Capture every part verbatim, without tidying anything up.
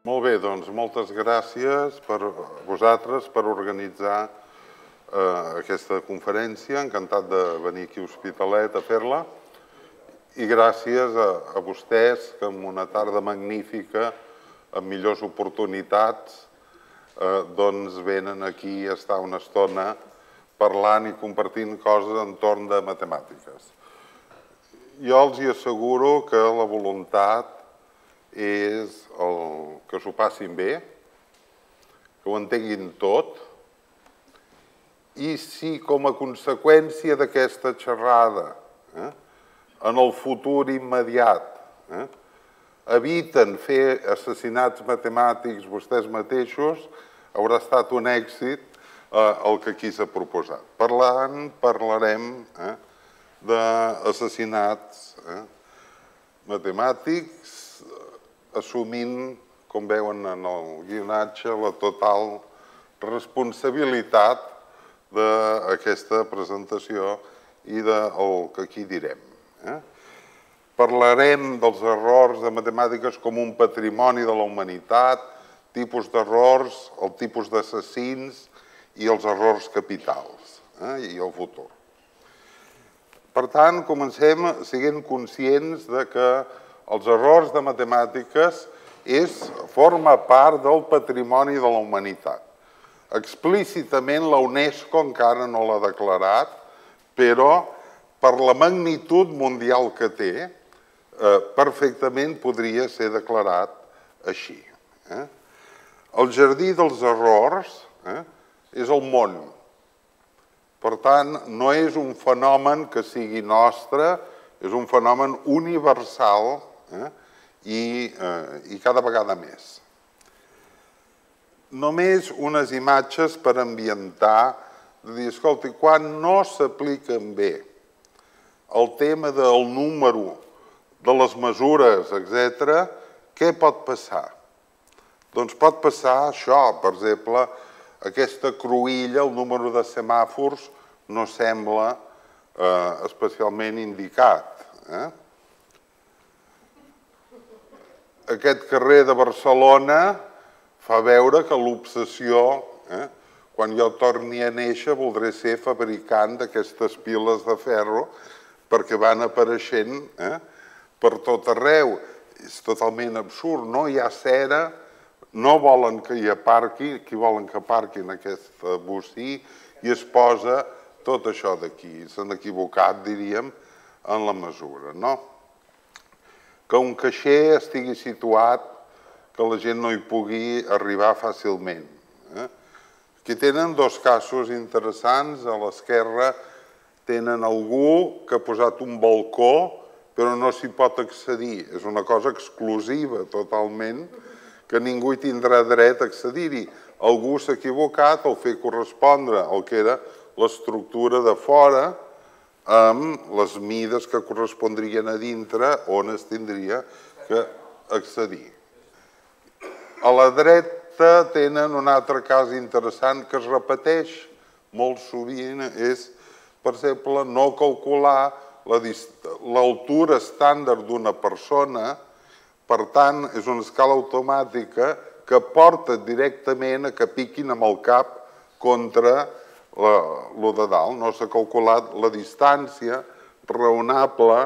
Molt bé, doncs moltes gràcies per vosaltres per organitzar eh, aquesta conferència. Encantat de venir aquí a Hospitalet a fer-la. I gràcies a, a vostès que en una tarda magnífica, amb millors oportunitats, eh, doncs venen aquí a estar una estona parlant i compartint coses entorn de matemàtiques. Jo els hi asseguro que la voluntat és el que s'ho passin bé, que ho entenguin tot, i si com a conseqüència d'aquesta xerrada, eh, en el futur immediat, eh, eviten fer assassinats matemàtics vostès mateixos, haurà estat un èxit eh, el que aquí s'ha proposat. Parlant, parlarem eh, d'assassinats eh, matemàtics, assumint, com veuen en el guionatge, la total responsabilitat d'aquesta presentació i del que aquí direm. Parlarem dels errors de matemàtiques com un patrimoni de la humanitat, tipus d'errors, el tipus d'assassins i els errors capitals i el futur. Per tant, comencem sent conscients que els errors de matemàtiques forma part del patrimoni de la humanitat. Explícitament la UNESCO encara no l'ha declarat, però per la magnitud mundial que té, perfectament podria ser declarat així. El jardí dels errors és el món. Per tant, no és un fenomen que sigui nostre, és un fenomen universal i cada vegada més. Només unes imatges per ambientar, de dir, escolti, quan no s'apliquen bé el tema del número, de les mesures, etcètera, què pot passar? Doncs pot passar això, per exemple, aquesta cruïlla, el número de semàfors, no sembla especialment indicat. Aquest carrer de Barcelona fa veure que l'obsessió, quan jo torni a néixer, voldré ser fabricant d'aquestes piles de ferro perquè van apareixent per tot arreu. És totalment absurd, no hi ha cera, no volen que hi aparqui, qui volen que aparqui en aquest bocí, i es posa tot això d'aquí. S'han equivocat, diríem, en la mesura, no? Que un caixer estigui situat, que la gent no hi pugui arribar fàcilment. Aquí tenen dos casos interessants. A l'esquerra tenen algú que ha posat un balcó, però no s'hi pot accedir. És una cosa exclusiva totalment, que ningú hi tindrà dret a accedir-hi. Algú s'ha equivocat al fer correspondre el que era l'estructura de fora amb les mides que correspondrien a dintre on es tindria que accedir. A la dreta tenen un altre cas interessant que es repeteix molt sovint, és, per exemple, no calcular l'altura estàndard d'una persona, per tant, és una escala automàtica que porta directament a que piquin amb el cap contra lo de dalt. No s'ha calculat la distància raonable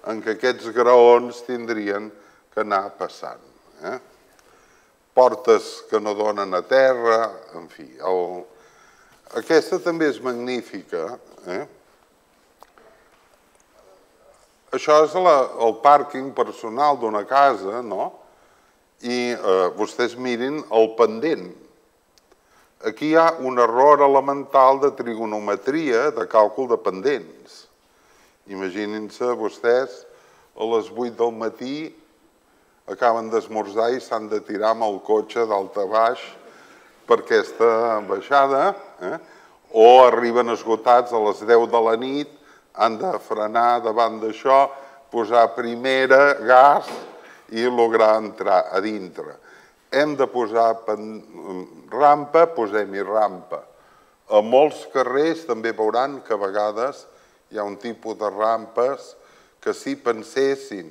en què aquests graons tindrien que anar passant. Portes que no donen a terra, en fi. Aquesta també és magnífica. Això és el pàrquing personal d'una casa, no? I vostès mirin el pendent. Aquí hi ha un error elemental de trigonometria, de càlcul de pendents. Imaginin-se vostès, a les vuit del matí, acaben d'esmorzar i s'han de tirar amb el cotxe dalt a baix per aquesta baixada, o arriben esgotats a les deu de la nit, han de frenar davant d'això, posar primera, gas, i lograr entrar a dintre. Hem de posar rampa, posem-hi rampa. A molts carrers també veuran que a vegades hi ha un tipus de rampes que si pensessin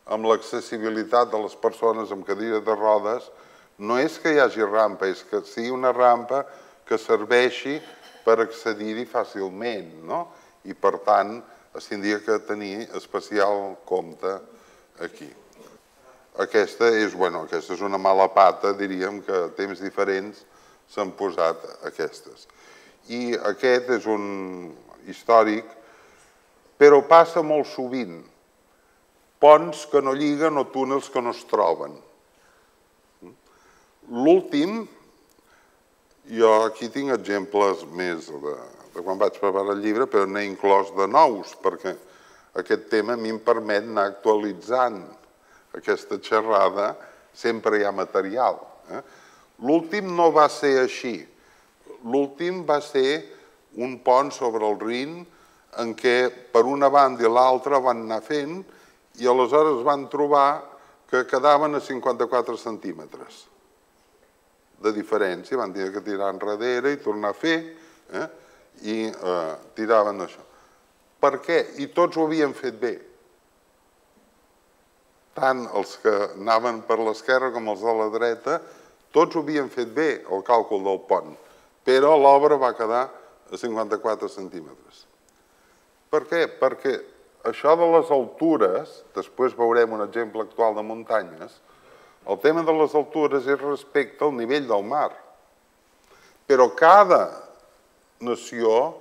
amb l'accessibilitat de les persones amb cadira de rodes no és que hi hagi rampa, és que sigui una rampa que serveixi per accedir-hi fàcilment, no? I per tant es tindria que tenir especial compte aquí. Aquesta és, bueno, aquesta és una mala pata, diríem que a temps diferents s'han posat aquestes. I aquest és un històric, però passa molt sovint. Ponts que no lliguen o túnels que no es troben. L'últim, jo aquí tinc exemples més de, de quan vaig preparar el llibre, però n'he inclòs de nous, perquè aquest tema a mi em permet anar actualitzant aquesta xerrada, sempre hi ha material. Eh? L'últim no va ser així. L'últim va ser un pont sobre el Rin en què per una banda i l'altra van anar fent i aleshores van trobar que quedaven a cinquanta-quatre centímetres de diferència. Van tenir que tirar enrere i tornar a fer eh? i eh, tiraven això. Per què? I tots ho havien fet bé. Tant els que anaven per l'esquerra com els de la dreta, tots ho havien fet bé, el càlcul del pont, però l'obra va quedar a cinquanta-quatre centímetres. Per què? Perquè això de les altures, després veurem un exemple actual de muntanyes, el tema de les altures és respecte al nivell del mar. Però cada nació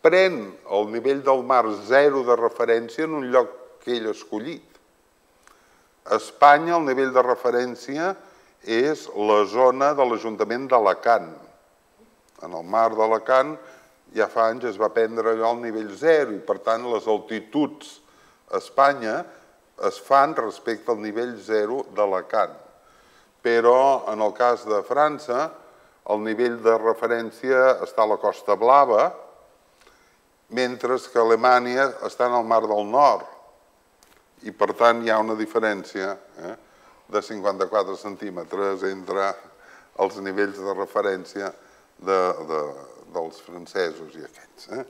pren el nivell del mar zero de referència en un lloc que ell ha escollit. A Espanya el nivell de referència és la zona de l'Ajuntament d'Alacant. En el mar d'Alacant ja fa anys es va prendre allò al nivell zero i per tant les altituds a Espanya es fan respecte al nivell zero d'Alacant. Però en el cas de França el nivell de referència està a la Costa Blava, mentre que Alemanya està en el Mar del Nord. I per tant hi ha una diferència eh, de cinquanta-quatre centímetres entre els nivells de referència de, de, dels francesos i aquests. Eh?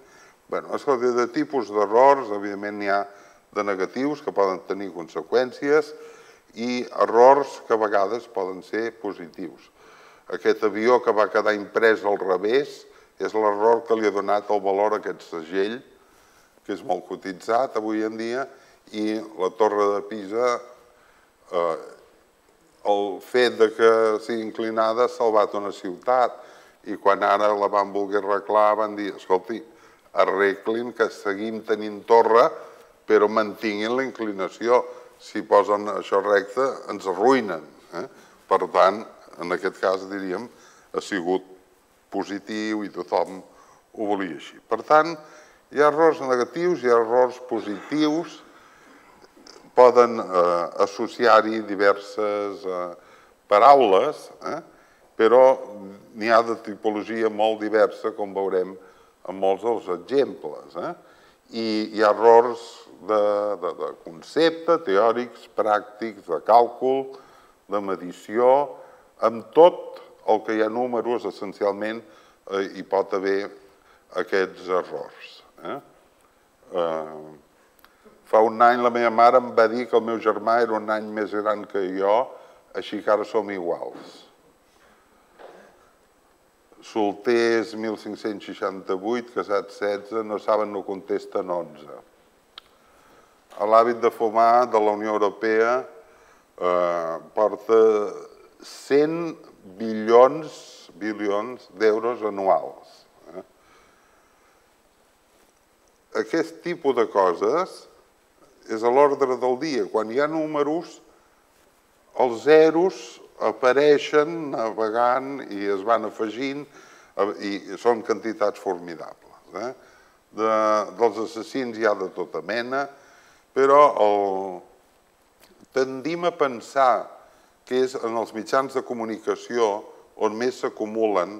Bé, escolta, de tipus d'errors, evidentment n'hi ha de negatius que poden tenir conseqüències i errors que a vegades poden ser positius. Aquest avió que va quedar imprès al revés és l'error que li ha donat el valor a aquest segell, que és molt cotitzat avui en dia, i la Torre de Pisa, eh, el fet de que sigui inclinada ha salvat una ciutat i quan ara la van voler arreglar van dir, escolti, arreglin que seguim tenint torre però mantinguin la inclinació. Si posen això recte ens arruïnen. Eh? Per tant, en aquest cas diríem, ha sigut positiu i tothom ho volia així. Per tant, hi ha errors negatius, hi ha errors positius, poden eh, associar-hi diverses eh, paraules, eh? però n'hi ha de tipologia molt diversa, com veurem en molts dels exemples. Eh? I hi ha errors de, de, de concepte, teòrics, pràctics, de càlcul, de medició, amb tot el que hi ha números, essencialment, eh, hi pot haver aquests errors. Eh? Eh, Fa un any la meva mare em va dir que el meu germà era un any més gran que jo, així que ara som iguals. Solters mil cinc-cents seixanta-vuit, casats setze, no saben, no contesten onze. L'hàbit de fumar de la Unió Europea eh, porta cent bilions, bilions d'euros anuals. Eh? Aquest tipus de coses és a l'ordre del dia. Quan hi ha números, els zeros apareixen navegant i es van afegint i són quantitats formidables. Eh? De, dels assassins hi ha de tota mena, però el, tendim a pensar que és en els mitjans de comunicació on més s'acumulen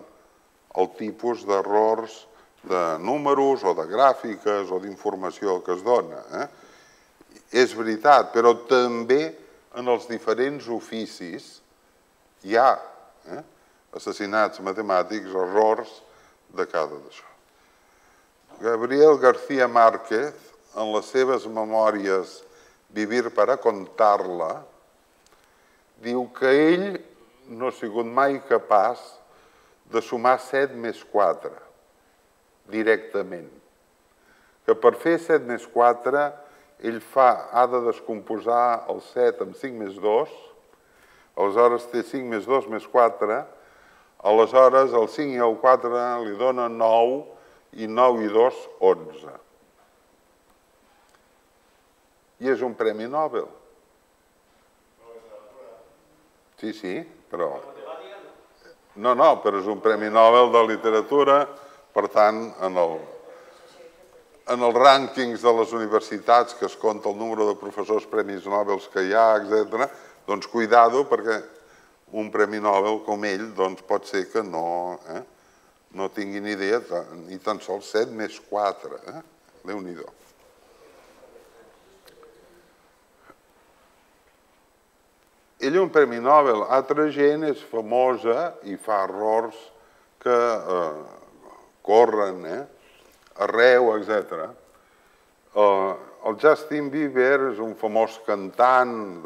el tipus d'errors de números o de gràfiques o d'informació que es dona. Eh? És veritat, però també en els diferents oficis hi ha eh, assassinats matemàtics, errors de cada d'això. Gabriel García Márquez, en les seves memòries Vivir para contarla, diu que ell no ha sigut mai capaç de sumar set més quatre directament. Que per fer set més quatre, ell fa, ha de descomposar el set amb cinc més dos, aleshores té cinc més dos més quatre, aleshores el cinc i el quatre li donen nou, i nou i dos, onze. I és un premi Nobel. Sí, sí, però... No, no, però és un premi Nobel de literatura, per tant, en el... En els rànquings de les universitats, que es compta el número de professors premis Nobel que hi ha, etcètera, doncs cuidado, perquè un premi Nobel com ell pot ser que no no tingui ni idea, ni tan sols set més quatre. Déu-n'hi-do. Ell un premi Nobel. Altra gent és famosa i fa errors que corren, arreu, etcètera. El Justin Bieber és un famós cantant,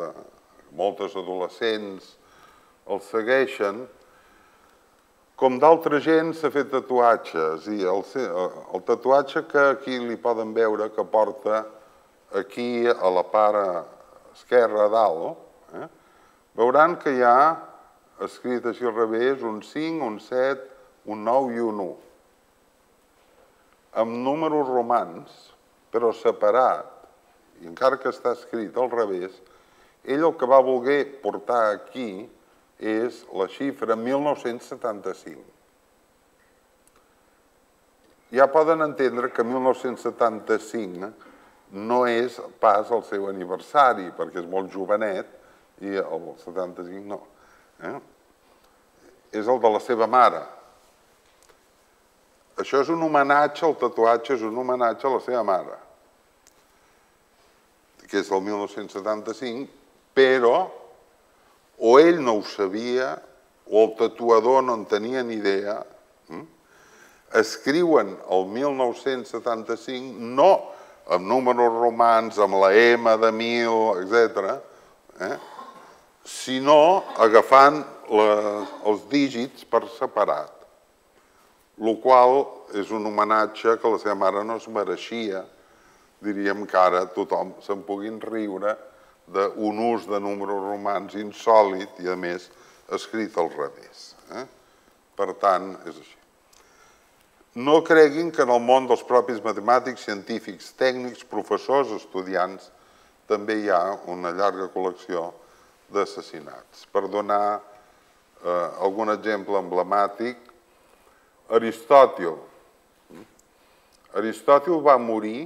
moltes adolescents el segueixen. Com d'altra gent s'ha fet tatuatges i el tatuatge que aquí li poden veure que porta aquí a la part esquerra a dalt, veuran que hi ha escrit així al revés un cinc, un set, un nou i un u. Amb números romans, però separat, i encara que està escrit al revés, ell el que va voler portar aquí és la xifra mil nou-cents setanta-cinc. Ja poden entendre que mil nou-cents setanta-cinc no és pas el seu aniversari, perquè és molt jovenet, i el setanta-cinc no. És el de la seva mare. Això és un homenatge, el tatuatge és un homenatge a la seva mare, que és el mil nou-cents setanta-cinc, però o ell no ho sabia, o el tatuador no en tenia ni idea, escriuen el mil nou-cents setanta-cinc no amb números romans, amb la M de mil, etcètera, sinó agafant els dígits per separat, el qual és un homenatge que la seva mare no es mereixia. Diríem que ara tothom se'n puguin riure d'un ús de números romans insòlit i, a més, escrit al revés. Per tant, és així. No creguin que en el món dels propis matemàtics, científics, tècnics, professors, estudiants, també hi ha una llarga col·lecció d'assassinats. Per donar algun exemple emblemàtic, Aristòtil. Aristòtil va morir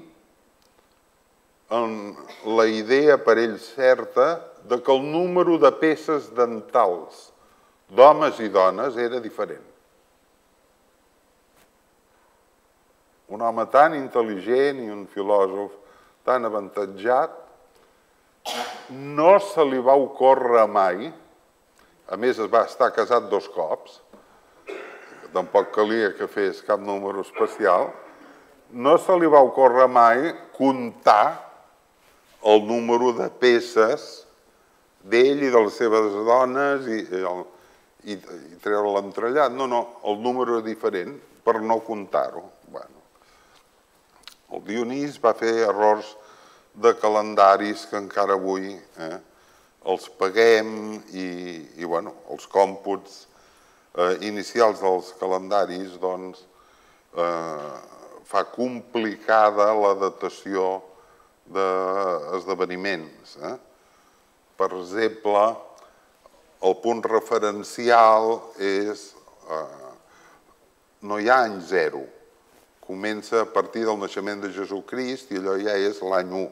amb la idea per ell certa que el número de peces dentals d'homes i dones era diferent. Un home tan intel·ligent i un filòsof tan avantatjat, no se li va ocórrer mai, a més es va estar casat dos cops, tampoc calia que fes cap número especial, no se li va ocórrer mai comptar el número de peces d'ell i de les seves dones i treure l'entrellat. No, no, el número era diferent per no comptar-ho. El Dionís va fer errors de calendaris que encara avui els paguem i els còmputs inicials dels calendaris fa complicada la datació d'esdeveniments. Per exemple, el punt referencial és... no hi ha any zero. Comença a partir del naixement de Jesucrist i allò ja és l'any u.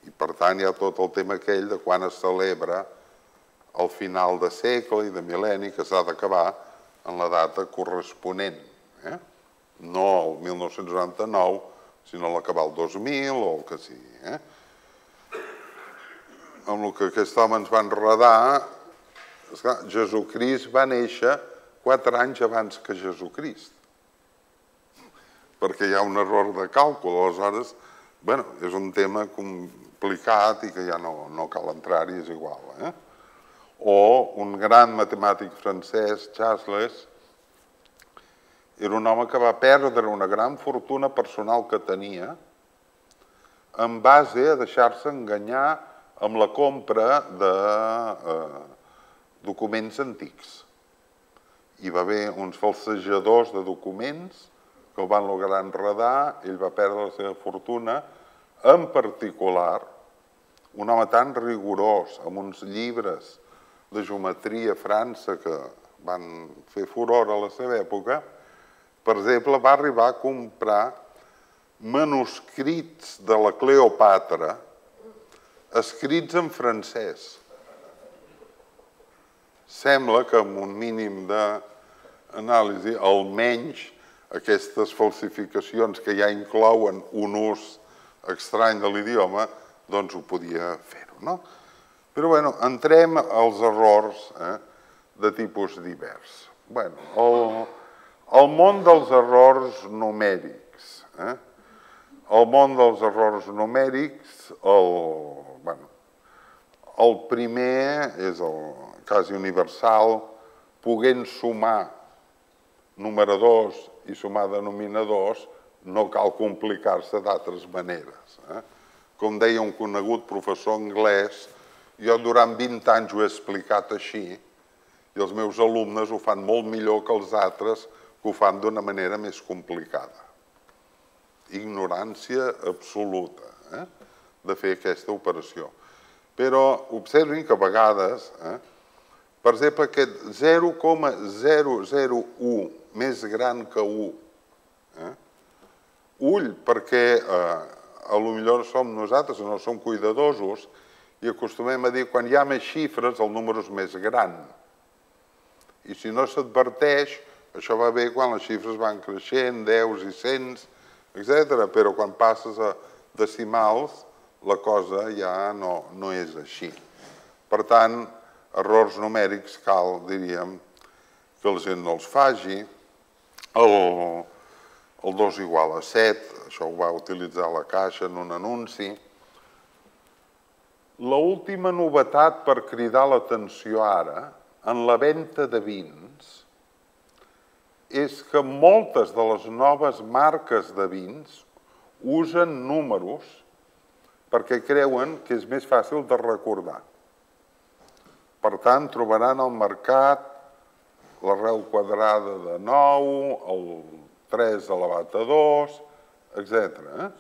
I per tant hi ha tot el tema aquell de quan es celebra al final de segle i de mil·lenni que s'ha d'acabar en la data corresponent. No el mil nou-cents noranta-nou, sinó l'acabar el dos mil o el que sigui. Amb el que aquest home ens va enredar, Jesucrist va néixer quatre anys abans que Jesucrist, perquè hi ha un error de càlcul. Aleshores, és un tema complicat i que ja no cal entrar-hi, és igual. O un gran matemàtic francès, Chasles, era un home que va perdre una gran fortuna personal que tenia en base a deixar-se enganyar amb la compra de eh, documents antics. Hi va haver uns falsejadors de documents que el van lograr enredar, ell va perdre la seva fortuna, en particular, un home tan rigorós, amb uns llibres de geometria a França que van fer furor a la seva època, per exemple, va arribar a comprar manuscrits de la Cleopatra escrits en francès. Sembla que amb un mínim d'anàlisi, almenys aquestes falsificacions que ja inclouen un ús estrany de l'idioma, doncs ho podia fer-ho, no? Però, bueno, entrem als errors de tipus divers. Bueno, el món dels errors numèrics. El món dels errors numèrics, el primer és el quasi universal, podent sumar numeradors i sumar denominadors, no cal complicar-se d'altres maneres. Com deia un conegut professor anglès, jo durant vint anys ho he explicat així i els meus alumnes ho fan molt millor que els altres que ho fan d'una manera més complicada. Ignorància absoluta de fer aquesta operació. Però observin que a vegades, per exemple, aquest zero coma zero zero u més gran que u, ull, perquè potser som nosaltres, no som cuidadosos, i acostumem a dir quan hi ha més xifres el número és més gran. I si no s'adverteix, això va bé quan les xifres van creixent, deus i cents, etcètera, però quan passes a decimals la cosa ja no és així. Per tant, errors numèrics cal, diríem, que la gent no els faci. El dos igual a set, això ho va utilitzar la Caixa en un anunci. L'última novetat per cridar l'atenció ara, en la venda de vins, és que moltes de les noves marques de vins usen números perquè creuen que és més fàcil de recordar. Per tant, trobaran al mercat l'arrel quadrada de nou, el tres elevat a dos, etcètera.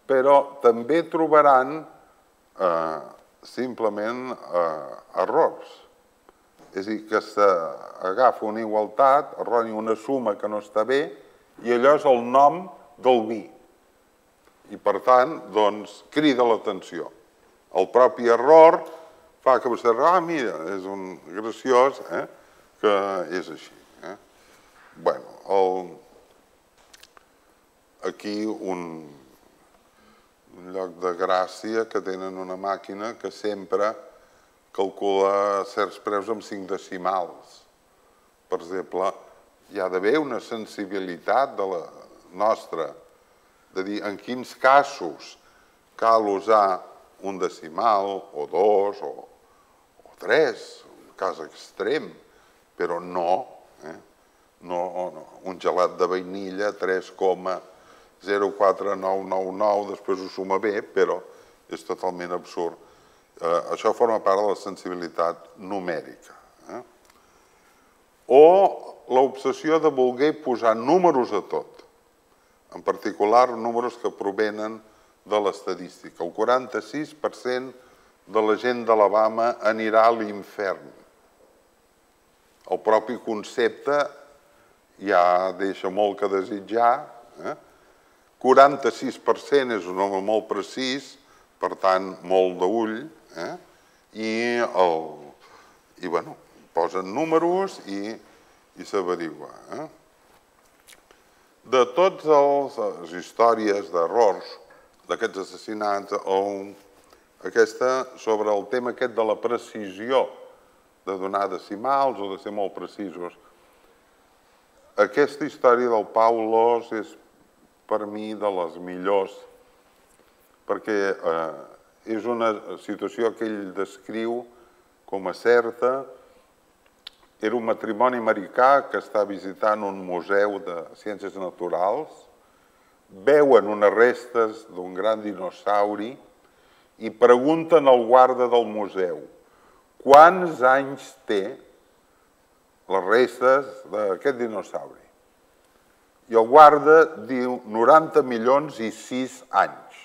Però també trobaran simplement errors. És a dir, que s'agafa una igualtat, erroni una suma que no està bé, i allò és el nom del vi. I per tant, doncs, crida l'atenció. El propi error fa que vostè digui, ah, mira, és un graciós que és així. Bé, aquí un lloc de gràcia que tenen una màquina que sempre calcula certs preus amb cinc decimals. Per exemple, hi ha d'haver una sensibilitat de la nostra, de dir en quins casos cal usar un decimal, o dos, o tres, un cas extrem, però no, un gelat de vainilla, tres coma zero quatre nou nou nou, després ho suma bé, però és totalment absurd. Això forma part de la sensibilitat numèrica. O l'obsessió de voler posar números a tot, en particular números que provenen de l'estadística. El quaranta-sis per cent de la gent d'Alabama anirà a l'infern. El propi concepte ja deixa molt que desitjar. quaranta-sis per cent és un home molt precís, per tant, molt d'ull, i posen números i s'averigua. De totes les històries d'errors d'aquests assassinats, aquesta sobre el tema aquest de la precisió, de donar decimals o de ser molt precisos, aquesta història del Pau Lós és per mi de les millors, perquè és una situació que ell descriu com a certa. Era un matrimoni americà que està visitant un museu de ciències naturals, veuen unes restes d'un gran dinosauri i pregunten al guarda del museu quants anys té les restes d'aquest dinosauri. I el guarda diu noranta milions i sis anys.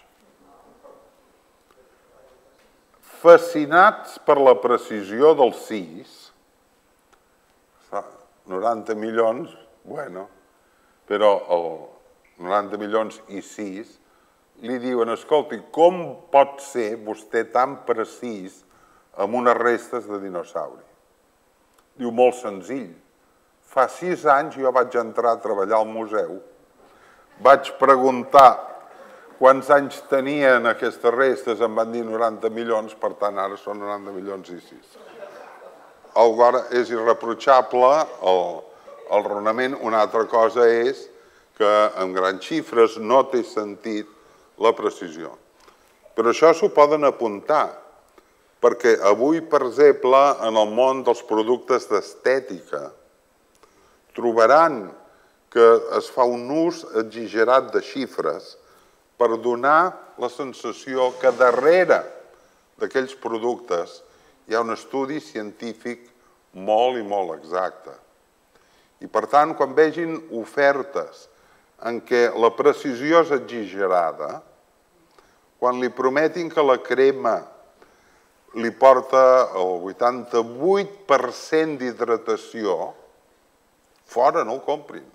Fascinats per la precisió del sis, noranta milions, bueno, però el noranta milions i sis li diuen, escolti, com pot ser vostè tan precís amb unes restes de dinosauri? Diu, molt senzill. Fa sis anys jo vaig entrar a treballar al museu, vaig preguntar quants anys tenien aquestes restes, em van dir noranta milions, per tant ara són noranta milions i sis. Alhora és irreprotxable el raonament. Una altra cosa és que amb grans xifres no té sentit la precisió. Però això s'ho poden apuntar, perquè avui, per exemple, en el món dels productes d'estètica, trobaran que es fa un ús exagerat de xifres per donar la sensació que darrere d'aquells productes hi ha un estudi científic molt i molt exacte. I, per tant, quan vegin ofertes en què la precisió és exagerada, quan li prometin que la crema li porta el vuitanta-vuit per cent d'hidratació, fora, no ho comprin.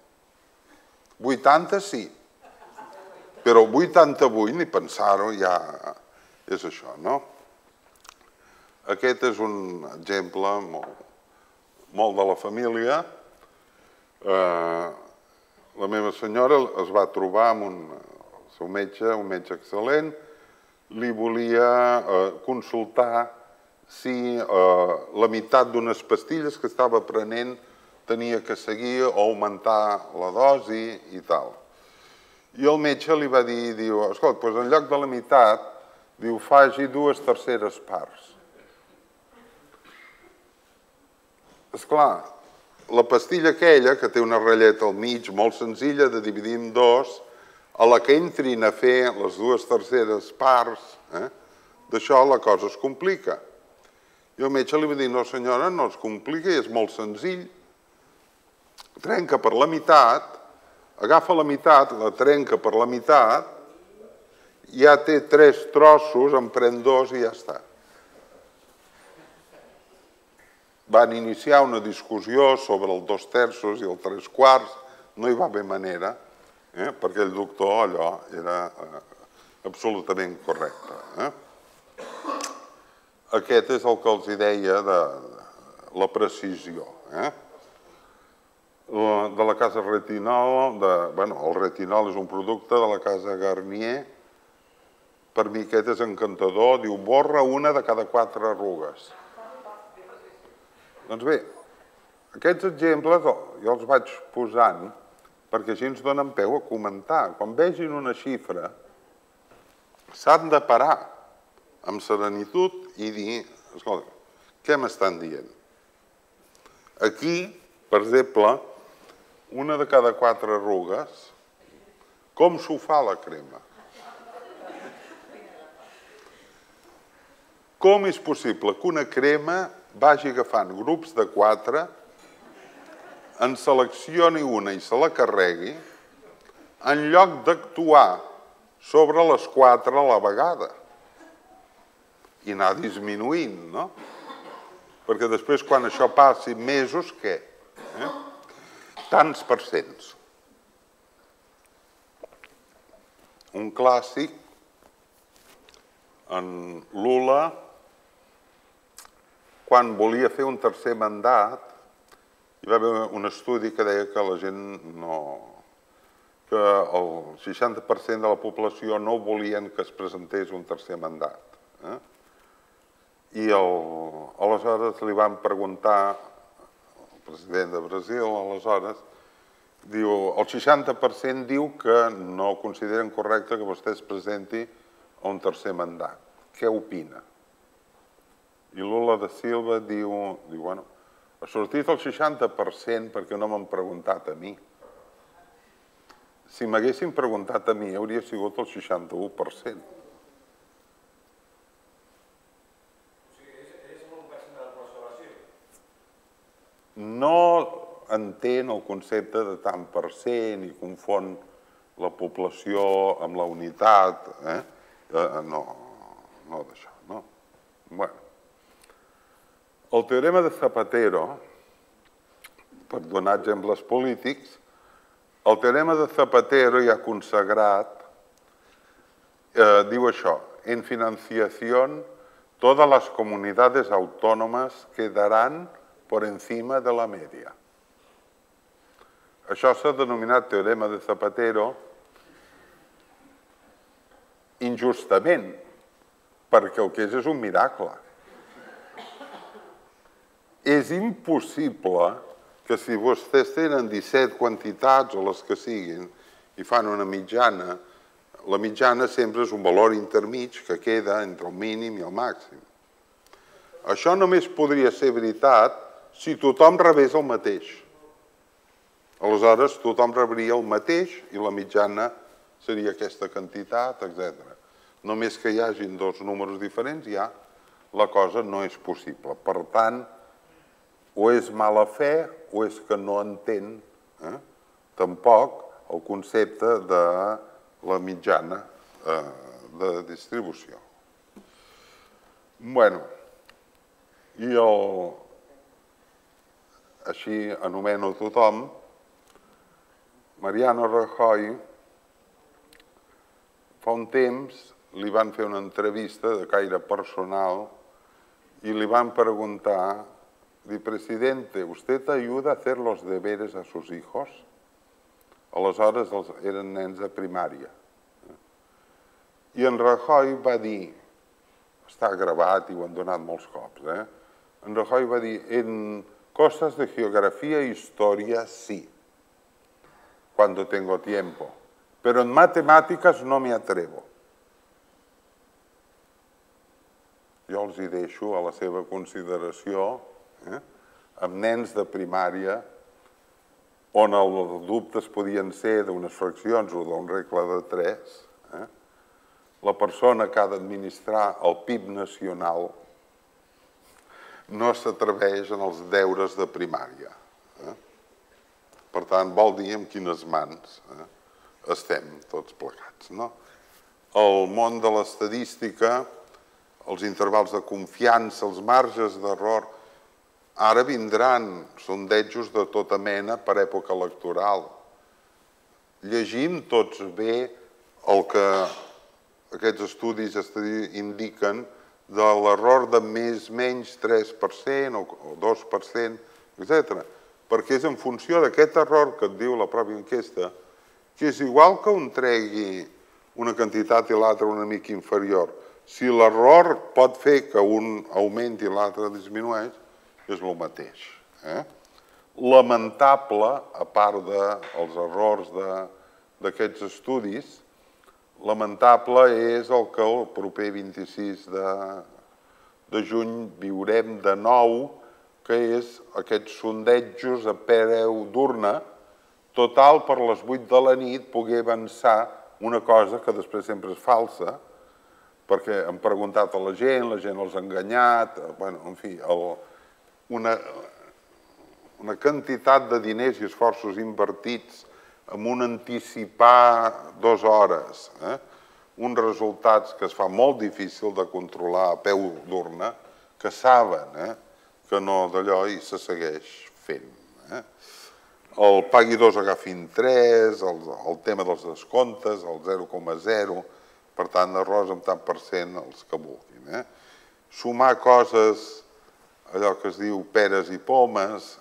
vuitanta sí, però vuitanta-vuit, ni pensar-ho, ja és això, no? Aquest és un exemple molt de la família. La meva senyora es va trobar amb el seu metge, un metge excel·lent, li volia consultar si la meitat d'unes pastilles que estava prenent tenia que seguir o augmentar la dosi i tal. I el metge li va dir, diu, escolta, doncs en lloc de la meitat, diu, faci dues terceres parts. Esclar, la pastilla aquella, que té una ratlleta al mig molt senzilla de dividir en dos, a la que entrin a fer les dues terceres parts, d'això la cosa es complica. I el metge li va dir, no senyora, no es complica, és molt senzill. Trenca per la meitat, agafa la meitat, la trenca per la meitat, ja té tres trossos, en pren dos i ja està. Van iniciar una discussió sobre el dos terços i el tres quarts, no hi va haver manera, perquè el doctor allò era absolutament correcte. Aquest és el que els deia de la precisió. De la casa Retinol, el retinol és un producte de la casa Garnier, per mi aquest és encantador, diu, borra una de cada quatre arrugues. Doncs bé, aquests exemples jo els vaig posant perquè així ens donen peu a comentar. Quan vegin una xifra, s'han de parar amb serenitud i dir, escolta, què m'estan dient? Aquí, per exemple, una de cada quatre arrugues, com s'ho fa la crema? Com és possible que una crema vagi agafant grups de quatre, en seleccioni una i se la carregui, en lloc d'actuar sobre les quatre a la vegada i anar disminuint, no? Perquè després, quan això passi mesos, què? Tants per cents. Un clàssic, en Lula, quan volia fer un tercer mandat, hi va haver un estudi que deia que la gent no... que el seixanta per cent de la població no volien que es presentés un tercer mandat. I aleshores li van preguntar, el president de Brasil, aleshores, diu, el seixanta per cent diu que no consideren correcte que vostè es presenti a un tercer mandat. Què opina? I Lula da Silva diu, bueno, ha sortit el seixanta per cent perquè no m'han preguntat a mi. Si m'haguessin preguntat a mi, hauria sigut el seixanta-u per cent. No entén el concepte de tant per cent i confon la població amb la unitat. No, no d'això, no. Bé. El teorema de Zapatero, per donar exemples polítics, el teorema de Zapatero ja consagrat diu això: en financiación todas las comunidades autónomas quedarán por encima de la media. Això s'ha denominat teorema de Zapatero injustament, perquè el que és és un miracle. És impossible que si vostès tenen disset quantitats o les que siguin i fan una mitjana, la mitjana sempre és un valor intermig que queda entre el mínim i el màxim. Això només podria ser veritat si tothom rebés el mateix. Aleshores, tothom rebria el mateix i la mitjana seria aquesta quantitat, etcètera. Només que hi hagin dos números diferents, ja la cosa no és possible. Per tant, o és mala fe o és que no entén tampoc el concepte de la mitjana de distribució. Bé, i així anomeno tothom, Mariano Rajoy, fa un temps li van fer una entrevista de caire personal i li van preguntar, di, presidente, ¿usted ayuda a hacer los deberes a sus hijos? Aleshores eren nens de primària. I en Rajoy va dir, està gravat i ho han donat molts cops, eh? En Rajoy va dir, en cosas de geografía e historia sí, cuando tengo tiempo, pero en matemáticas no me atrevo. Jo els hi deixo a la seva consideració, amb nens de primària, on els dubtes podien ser d'unes fraccions o d'un regle de tres, la persona que ha d'administrar el P I B nacional no s'atreveix en els deures de primària. Per tant, vol dir en quines mans estem tots plegats. El món de l'estadística, els intervals de confiança, els marges d'error, ara vindran sondejos de tota mena per època electoral. Llegim tots bé el que aquests estudis indiquen de l'error de més o menys tres per cent o dos per cent, etcètera. Perquè és en funció d'aquest error que et diu la pròpia enquesta, que és igual que un tregui una quantitat i l'altre una mica inferior. Si l'error pot fer que un augmenti i l'altre disminueix, és el mateix. Lamentable, a part dels errors d'aquests estudis, lamentable és el que el proper vint-i-sis de juny viurem de nou, que és aquests sondejos a preu d'urna, total per les vuit de la nit poder avançar una cosa que després sempre és falsa, perquè han preguntat a la gent, la gent els ha enganyat, en fi, una quantitat de diners i esforços invertits en un anticipar dues hores, uns resultats que es fa molt difícil de controlar a peu d'urna, que saben que no d'allò i se segueix fent. El pagui dos, agafin tres, el tema dels descomptes, el zero coma zero, per tant, errors amb tant per cent els que vulguin. Sumar coses, allò que es diu peres i pomes,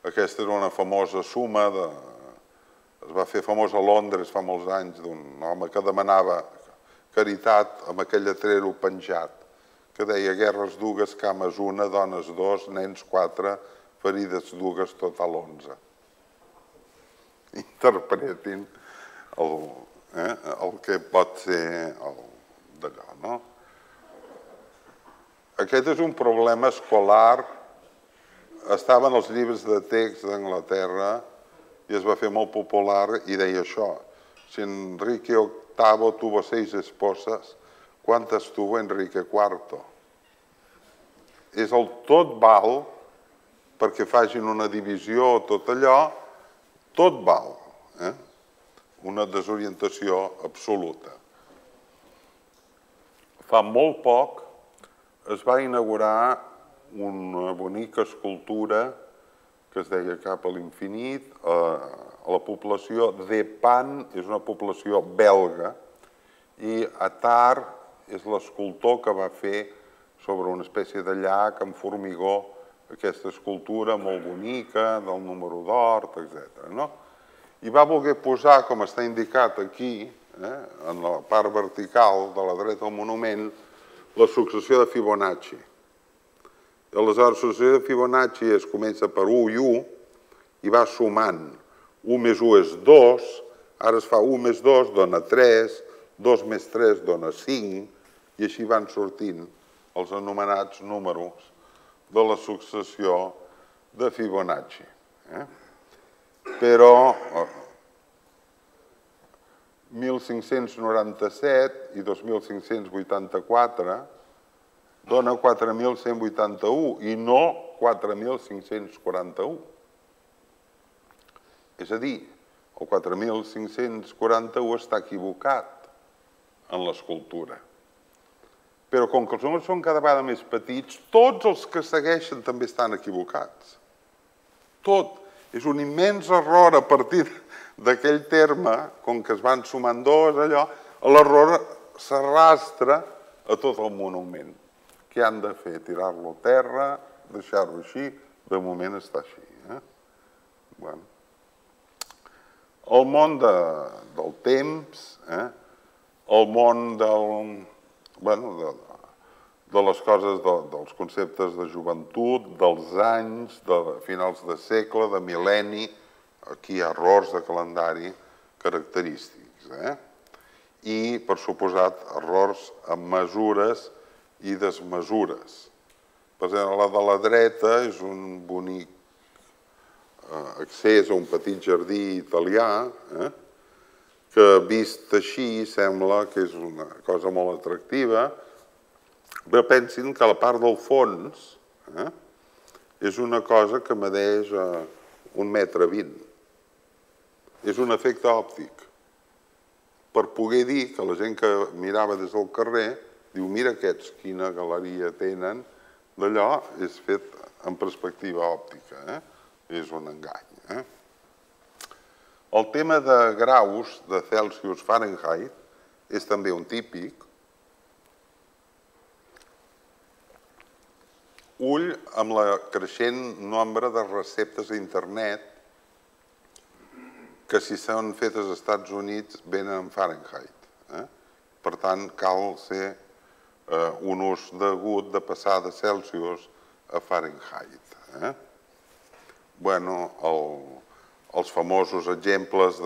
aquesta era una famosa suma, es va fer famós a Londres fa molts anys, d'un home que demanava caritat amb aquell lletrero penjat, que deia guerres dues, cames una, dones dos, nens quatre, ferides dues, total onze. Interpretin el que pot ser d'allò, no? Aquest és un problema escolar. Estava en els llibres de text d'Anglaterra i es va fer molt popular i deia això. Si Enrique octavo tuvo seis esposas, ¿cuántas tuvo Enrique cuarto? És el tot val perquè facin una divisió o tot allò, tot val. Eh? Una desorientació absoluta. Fa molt poc es va inaugurar una bonica escultura que es deia Cap a l'infinit. La població d'Epan és una població belga i Attard és l'escultor que va fer sobre una espècie de llac amb formigó aquesta escultura molt bonica del número d'Hort, etcètera. I va voler posar, com està indicat aquí, en la part vertical de la dreta del monument, la successió de Fibonacci. Aleshores, la successió de Fibonacci es comença per u i u i va sumant. u més u és dos, ara es fa u més dos, dona tres, dos més tres dona cinc, i així van sortint els anomenats números de la successió de Fibonacci. Però mil cinc-cents noranta-set i dos mil cinc-cents vuitanta-quatre dona quatre mil cent vuitanta-u i no quatre mil cinc-cents quaranta-u. És a dir, el quatre mil cinc-cents quaranta-u està equivocat en l'escultura. Però com que els números són cada vegada més petits, tots els que segueixen també estan equivocats. Tot. És un immens error a partir d'aquell terme, com que es van sumant dos, allò, l'error s'arrastra a tot el monument. Què han de fer? Tirar-lo a terra, deixar-lo així? De moment està així. Bueno. El món del temps, el món de les coses, dels conceptes de joventut, dels anys, de finals de segle, de mil·lenni, aquí hi ha errors de calendari característics. I, per suposat, errors amb mesures i desmesures. Per exemple, la de la dreta és un bonic accés a un petit jardí italià que, vist així, sembla que és una cosa molt atractiva, però pensin que la part del fons és una cosa que medeix un metre vint. És un efecte òptic. Per poder dir que la gent que mirava des del carrer diu, mira aquests, quina galeria tenen, d'allò és fet en perspectiva òptica. És un engany. El tema de graus, de Celsius, Fahrenheit, és també un típic. Ull amb la creixent nombre de receptes a internet que, si són fetes als Estats Units, venen en Fahrenheit. Per tant, cal ser un ús degut de passar de Celsius a Fahrenheit. Bueno, els famosos exemples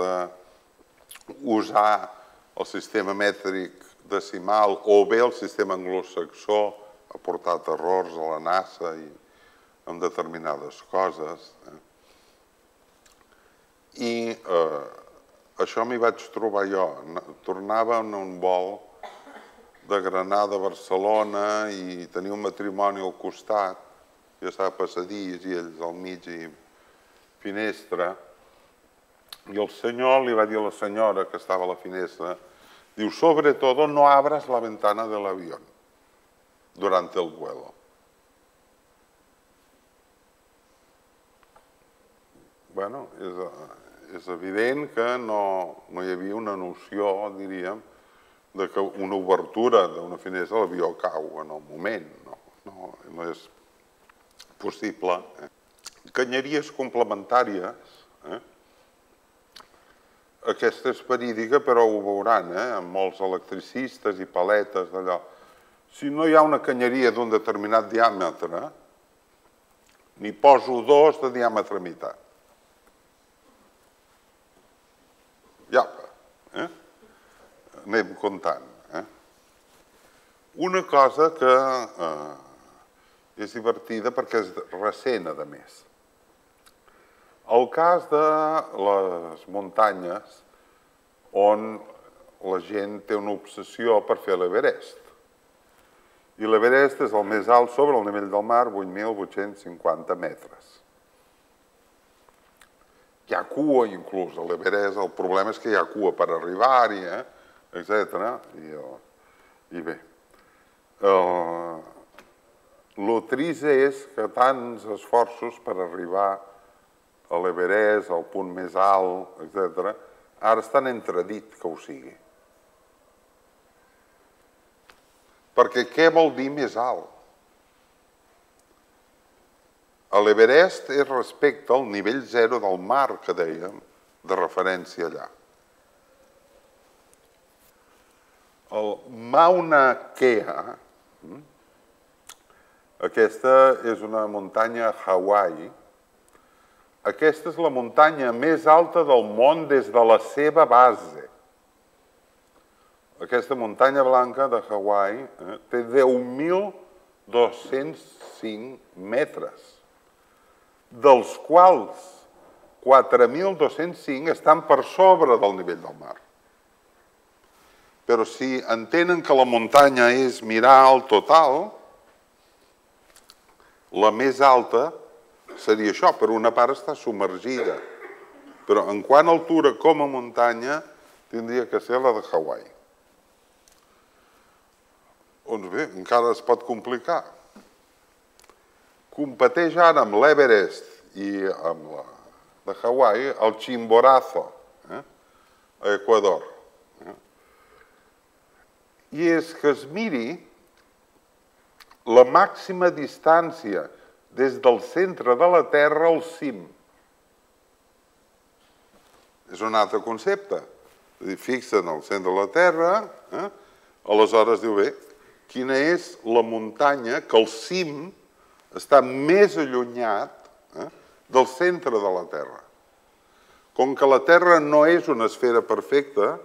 d'usar el sistema mètric decimal o bé el sistema anglosaxó ha portat errors a la NASA i en determinades coses. I això m'hi vaig trobar jo. Tornava en un vol de Granada a Barcelona i tenia un matrimoni al costat, jo estava a passadís i ells al mig i finestra, i el senyor li va dir a la senyora que estava a la finestra, diu, sobre todo no abras la ventana del avión durante el vuelo. Bueno, és evident que no hi havia una noció, diríem, de que una obertura d'una finestra l'avió cau en el moment. No és possible. Canyeries complementàries. Aquesta és verídica, però ho veuran, amb molts electricistes i paletes d'allò. Si no hi ha una canyeria d'un determinat diàmetre, n'hi poso dos de diàmetre meitat. Iapa, anem comptant. Una cosa que És divertida perquè és recent, a més. El cas de les muntanyes on la gent té una obsessió per fer l'Everest. I l'Everest és el més alt sobre el nivell del mar, vuit mil vuit-cents cinquanta metres. Hi ha cua, inclús, a l'Everest. El problema és que hi ha cua per arribar-hi, eh? etcètera. I, I bé, el trist és que tants esforços per arribar a l'Everest, al punt més alt, etcètera, ara estan entredit que ho sigui. Perquè què vol dir més alt? L'Everest és respecte al nivell zero del mar, que dèiem, de referència allà. El Mauna Kea, aquesta és una muntanya a Hawaii. Aquesta és la muntanya més alta del món des de la seva base. Aquesta muntanya blanca de Hawaii eh, té deu mil dos-cents cinc metres, dels quals quatre mil dos-cents cinc estan per sobre del nivell del mar. Però si entenen que la muntanya és mirar el total, la més alta seria això, per una part està submergida, però en quant a altura com a muntanya tindria que ser la de Hawaii. Doncs bé, encara es pot complicar. Competeix ara amb l'Everest i amb la de Hawaii el Chimborazo, eh? a Equador. Eh? I és que es miri la màxima distància des del centre de la Terra al cim. És un altre concepte. Fixen el centre de la Terra, eh? aleshores diu, bé, quina és la muntanya que al cim està més allunyat eh, del centre de la Terra. Com que la Terra no és una esfera perfecta,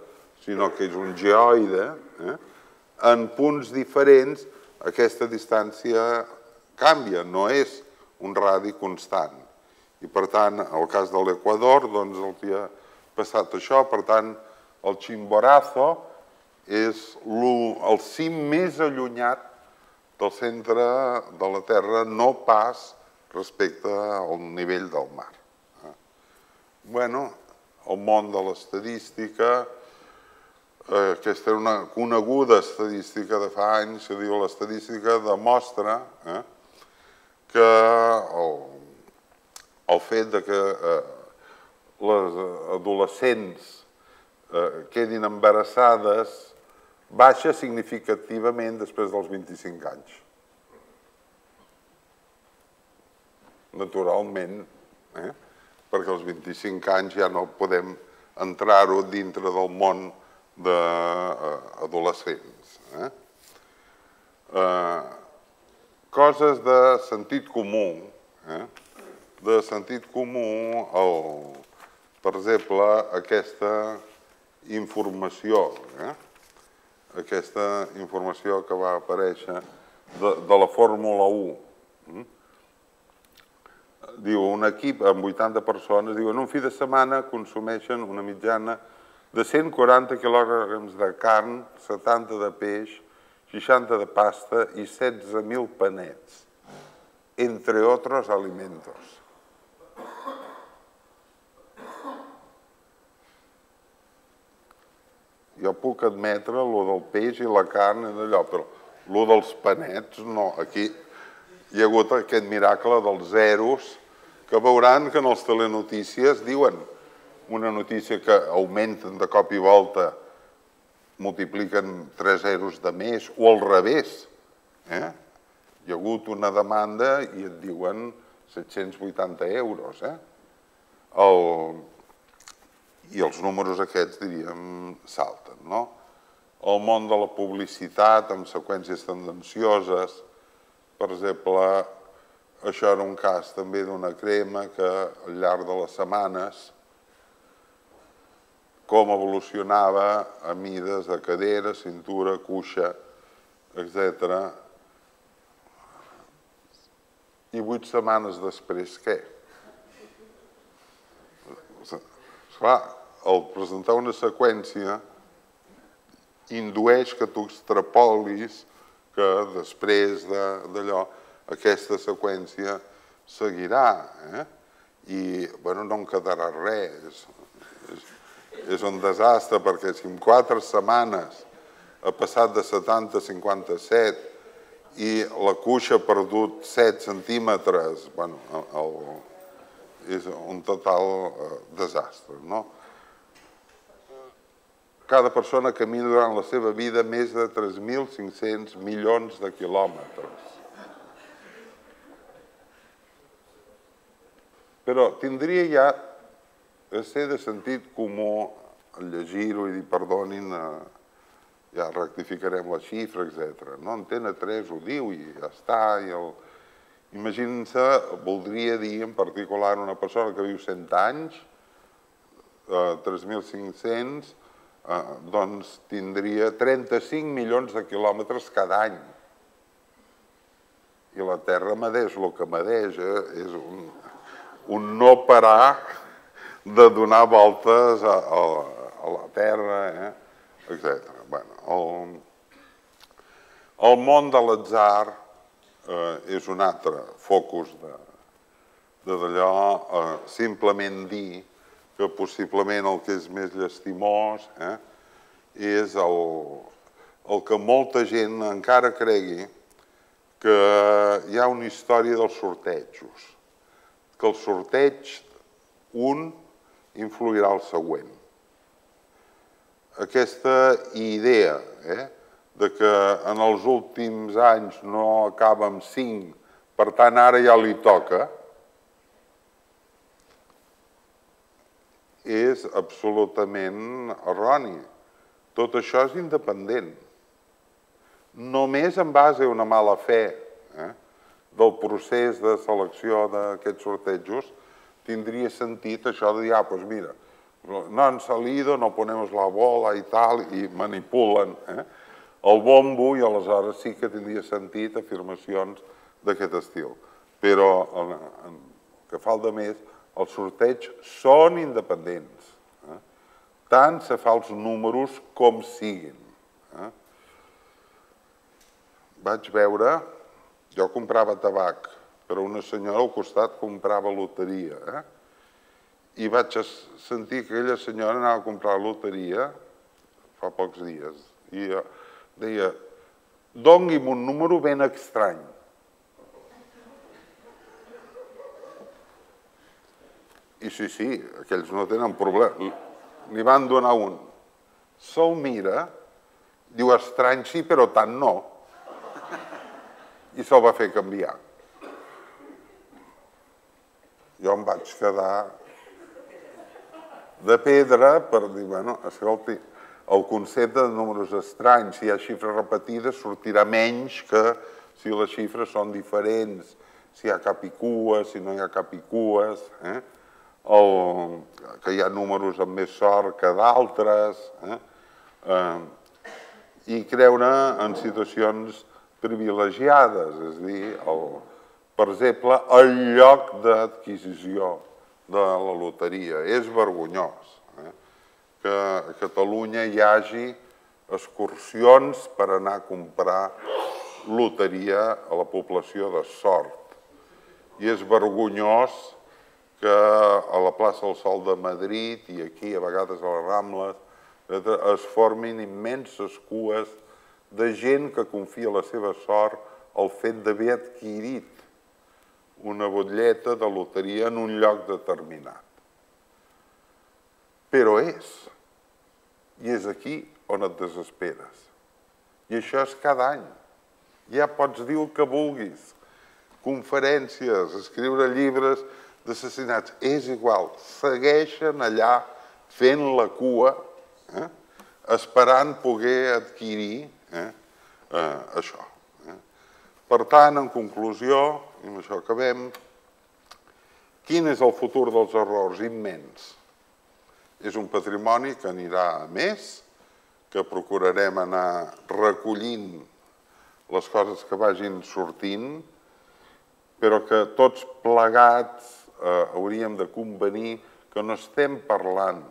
sinó que és un geoide, eh, en punts diferents aquesta distància canvia, no és un radi constant. I per tant, el cas de l'Equador, doncs els hi ha passat això, per tant, el Chimborazo és el cim més allunyat del centre de la Terra, no pas respecte al nivell del mar. Bueno, el món de l'estadística, aquesta era una coneguda estadística de fa anys, que diu l'estadística demostra que el fet que les adolescents quedin embarassades baixa significativament després dels vint-i-cinc anys. Naturalment, eh? perquè als vint-i-cinc anys ja no podem entrar-ho dintre del món d'adolescents. Eh? Eh, coses de sentit comú. Eh? De sentit comú, el, per exemple, aquesta informació, eh? aquesta informació que va aparèixer de, de la Fórmula u. Diu, un equip amb vuitanta persones, diu, en un fi de setmana consumeixen una mitjana de cent quaranta quilograms de carn, setanta de peix, seixanta de pasta i setze mil panets, entre otros alimentos. Jo puc admetre lo del peix i la carn i d'allò, però lo dels panets no. Aquí hi ha hagut aquest miracle dels zeros, que veuran que en les telenotícies diuen una notícia que augmenten de cop i volta, multipliquen tres zeros de més, o al revés. Eh? Hi ha hagut una demanda i et diuen set-cents vuitanta euros. Eh? El... I els números aquests, diríem, salten, no? El món de la publicitat amb seqüències tendencioses, per exemple, això era un cas també d'una crema que al llarg de les setmanes com evolucionava a mides de cadera, cintura, cuixa, etcètera. I vuit setmanes després, què? Esclar, el presentar una seqüència indueix que tu extrapolis que després d'allò aquesta seqüència seguirà. I, bueno, no en quedarà res. És un desastre perquè si en quatre setmanes ha passat de setanta a cinquanta-set i la cuixa ha perdut set centímetres, bueno, és un total desastre, no? Cada persona camina durant la seva vida més de tres mil cinc-cents milions de quilòmetres. Però tindria ja de ser de sentit comú llegir-ho i dir, perdonin, ja rectificarem la xifra, etcètera. No, Antena tres ho diu i ja està. Imaginin-se, voldria dir en particular una persona que viu cent anys, tres mil cinc-cents, doncs tindria trenta-cinc milions de quilòmetres cada any. I la Terra medeix el que medeix, és un no parar de donar voltes a la Terra, etcètera. El món de l'atzar és un altre focus d'allò, simplement dir que possiblement el que és més llastimós és el que molta gent encara cregui que hi ha una història dels sortejos, que el sorteig un influirà al següent. Aquesta idea de que en els últims anys no acaba amb cinc, per tant ara ja li toca, és absolutament erroni. Tot això és independent. Només en base a una mala fe del procés de selecció d'aquests sortejos tindria sentit això de dir, ah, doncs mira, no han salido, no ponemos la bola i tal, i manipulen el bombo i aleshores sí que tindria sentit afirmacions d'aquest estil. Però, el que falta més, els sorteigs són independents. Tant se fa els números com siguin. Vaig veure, jo comprava tabac, però una senyora al costat comprava loteria. I vaig sentir que aquella senyora anava a comprar loteria fa pocs dies. I deia, doni'm un número ben estrany. I sí, sí, aquells no tenen problema. Li van donar un. Se'l mira, diu, estrany sí, però tant no. I se'l va fer canviar. Jo em vaig quedar de pedra per dir, bueno, escolti, el concepte de números estranys, si hi ha xifres repetides, sortirà menys que si les xifres són diferents, si hi ha cap i cues, si no hi ha cap i cues, que hi ha números amb més sort que d'altres, i creure en situacions privilegiades, és a dir, per exemple, el lloc d'adquisició de la loteria. És vergonyós que a Catalunya hi hagi excursions per anar a comprar loteria a la població de Sort. I és vergonyós que a la plaça del Sol de Madrid i aquí, a vegades a les Rambles, es formin immenses cues de gent que confia la seva sort al fet d'haver adquirit una butlleta de loteria en un lloc determinat. Però és. I és aquí on et desesperes. I això és cada any. Ja pots dir el que vulguis. Conferències, escriure llibres d'assassinats. És igual. Segueixen allà fent la cua, esperant poder adquirir això. Per tant, en conclusió, i amb això acabem, quin és el futur dels errors? Immens. És un patrimoni que anirà a més, que procurarem anar recollint les coses que vagin sortint però que tots plegats hauríem de convenir que no estem parlant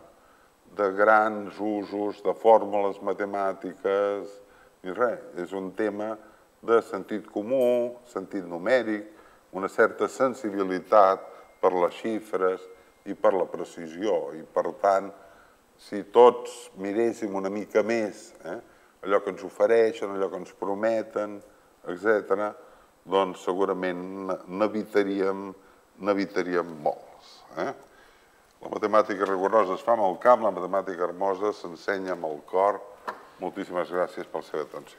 de grans usos, de fórmules matemàtiques, ni res. És un tema de sentit comú, sentit numèric, una certa sensibilitat per les xifres i per la precisió. I, per tant, si tots miréssim una mica més allò que ens ofereixen, allò que ens prometen, etcètera, doncs segurament n'evitaríem molts. La matemàtica rigorosa es fa amb el cap, la matemàtica hermosa s'ensenya amb el cor. Moltíssimes gràcies per la seva atenció.